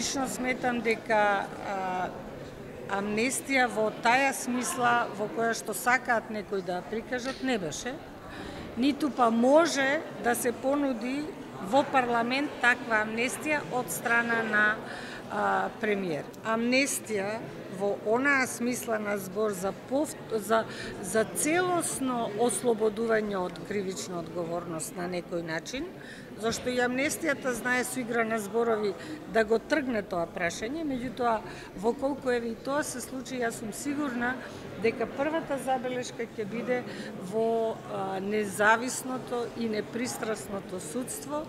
лично сметам дека амнестија во таја смисла во која што сакаат некои да прикажат не беше, ниту па може да се понуди во парламент таква амнестија од страна на премиер. Амнестија во онаа смисла на збор за целосно ослободување од кривична одговорност на некој начин, зашто и амнестијата знае со игра на зборови да го тргне тоа прашање, меѓутоа во колку еве и тоа се случи, јас сум сигурна дека првата забелешка ќе биде во независното и непристрасното судство.